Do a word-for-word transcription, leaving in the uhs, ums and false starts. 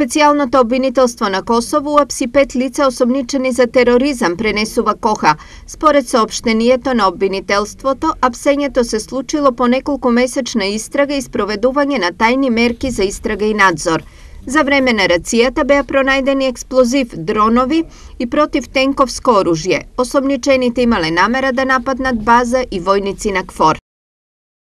Специјалното обвинителство на Косово уапси пет лица осомничени за тероризам, пренесува Коха. Според соопштението на обвинителството, апсењето се случило по неколку месечна истрага и спроведување на тајни мерки за истрага и надзор. За време на рацијата беа пронајдени експлозив, дронови и противтенковско оружје. Осомничените имале намера да нападнат база и војници на КФОР.